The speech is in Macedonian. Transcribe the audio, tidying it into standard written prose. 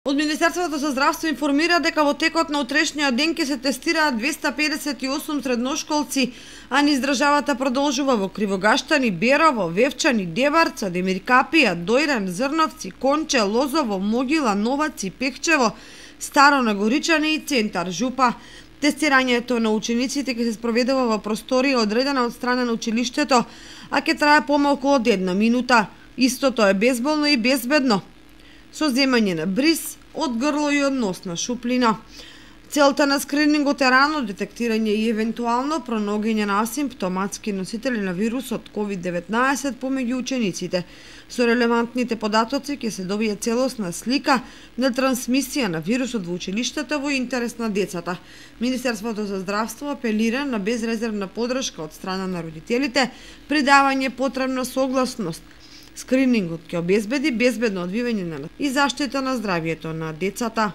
Од Министерството за здравство информира дека во текот на утрешниот ден ќе се тестираат 258 средношколци, а низ државата продолжува во Кривогаштани, Берово, Вевчани, Дебарца, Демиркапија, Дојран, Зрновци, Конче, Лозово, Могила, Новаци, Пехчево, Старо Нагоричани и Центар Жупа. Тестирањето на учениците ќе се спроведува во просторија одредена од страна на училиштето, а ќе трае помалку од 1 минута. Истото е безболно и безбедно, со земање на бриз од грло и од носна шуплина. Целта на скринингот е рано детектирање и евентуално пронаоѓање на асимптоматски носители на вирусот COVID-19 помеѓу учениците. Со релевантните податоци ќе се добие целосна слика на трансмисија на вирусот во училиштето во интерес на децата. Министерството за здравство апелира на безрезервна подршка од страна на родителите при давање потребна согласност. Скринингот ќе обезбеди безбедно одвивање и заштита на здравјето на децата.